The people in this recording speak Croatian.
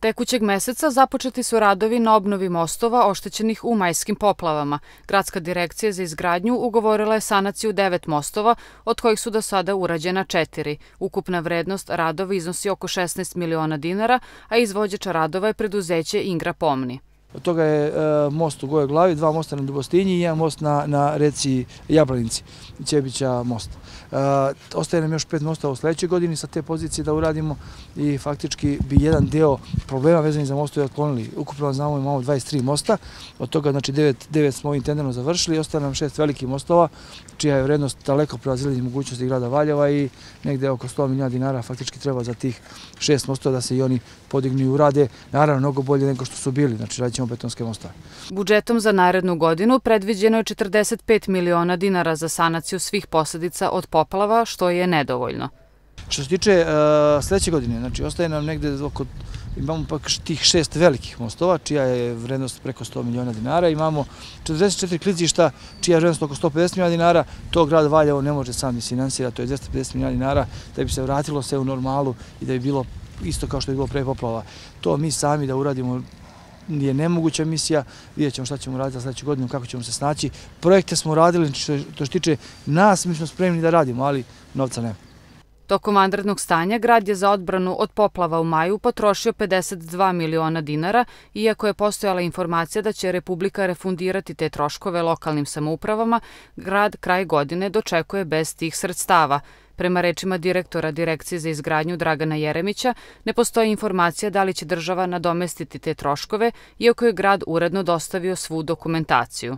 Tekućeg meseca započeti su radovi na obnovi mostova oštećenih u majskim poplavama. Gradska direkcija za izgradnju ugovorila je sanaciju 9 mostova, od kojih su do sada urađena 4. Ukupna vrednost radova iznosi oko 16 miliona dinara, a izvođač radova je preduzeće Ingra Pomni. Od toga je most u Gojoj Glavi, 2 mosta na Dubostinji i 1 most na reci Jablanici, Ćebića most. Ostaje nam još 5 mostova u sledećoj godini sa te pozicije da uradimo i faktički bi jedan deo problema vezanih za mostove otklonili. Ukupno znamo imamo 23 mosta, od toga znači 9 smo ovim tenderom završili i ostaje nam 6 velikih mostova, čija je vrednost daleko prevazilazi mogućnosti grada Valjeva i negde oko 100 miliona dinara faktički treba za tih 6 mostova da se i oni podignu i urade, naravno mnogo bolje nego što su bili, znači radit ćemo betonske mostove. Budžetom za narednu godinu predviđeno je 45 miliona dinara za sanaciju svih posledica od poplava, što je nedovoljno. Što se tiče sledeće godine, znači ostaje nam negde imamo pak tih 6 velikih mostova, čija je vrednost preko 100 miliona dinara, imamo 44 klizišta, čija je vrednost oko 150 miliona dinara, to grad Valjevo ne može sam isfinansirati, to je 250 miliona dinara, da bi se vratilo sve u normalu i da bi bilo isto kao što je bilo pre poplava. To mi sami da uradimo je nemoguća misija, vidjet ćemo šta ćemo raditi za sledeću godinu, kako ćemo se snaći. Projekte smo radili, što se tiče nas, mi smo spremni da radimo, ali novca nema. Tokom vanrednog stanja, grad je za odbranu od poplava u maju potrošio 52 miliona dinara, iako je postojala informacija da će Republika refundirati te troškove lokalnim samoupravama, grad kraj godine dočekuje bez tih sredstava. Prema rečima direktora Direkcije za izgradnju Dragana Jeremića, ne postoji informacija da li će država nadomestiti te troškove, iako je grad uredno dostavio svu dokumentaciju.